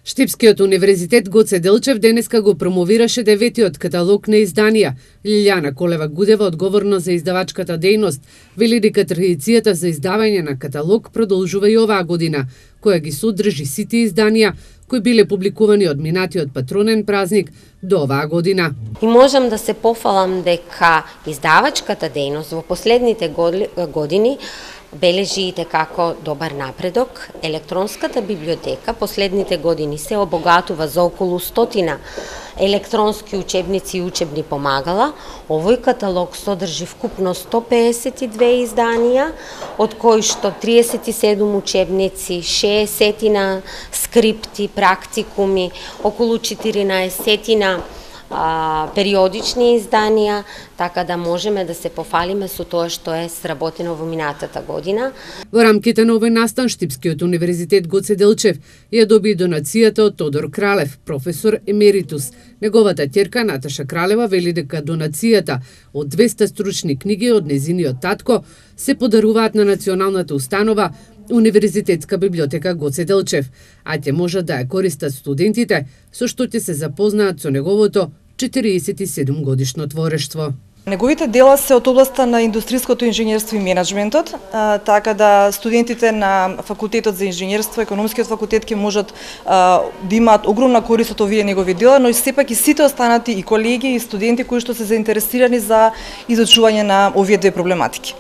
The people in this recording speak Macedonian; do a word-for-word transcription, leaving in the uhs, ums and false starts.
Штипскиот универзитет Гоце Делчев денеска го промовираше деветиот каталог на изданија. Лилјана Колева-Гудева, одговорна за издавачката дејност, вели дека традицијата за издавање на каталог продолжува и оваа година, која ги содржи сите изданија кои биле публикувани од минатиот патронен празник до оваа година. И можам да се пофалам дека издавачката дејност во последните години бележи како добар напредок. Електронската библиотека последните години се обогатува за околу стотина електронски учебници и учебни помагала. Овој каталог содржи вкупно сто пеесет и две изданија, од кои што триесет и седум учебници, шеесет скрипти, практикуми, околу четиринаесет А, периодични изданија, така да можеме да се пофалиме со тоа што е сработено во минатата година. Во рамките на овој настан, Штипскиот универзитет Гоце Делчев ја доби донацијата од Тодор Кралев, професор емеритус. Неговата ќерка Наташа Кралева вели дека донацијата од двесте стручни книги од незиниот татко се подаруваат на националната установа Универзитетска библиотека Гоце Делчев, а ќе можат да ја користат студентите, со што ќе се запознаат со неговото четириесет и седум годишно творештво. Неговите дела се од областа на индустријското инженерство и менаџментот, така да студентите на факултетот за инженерство, економскиот факултет ќе можат а, да имаат огромна корист од овие негови дела, но и сепак и сите останати и колеги и студенти кои што се заинтересирани за изучување на овие две проблематики.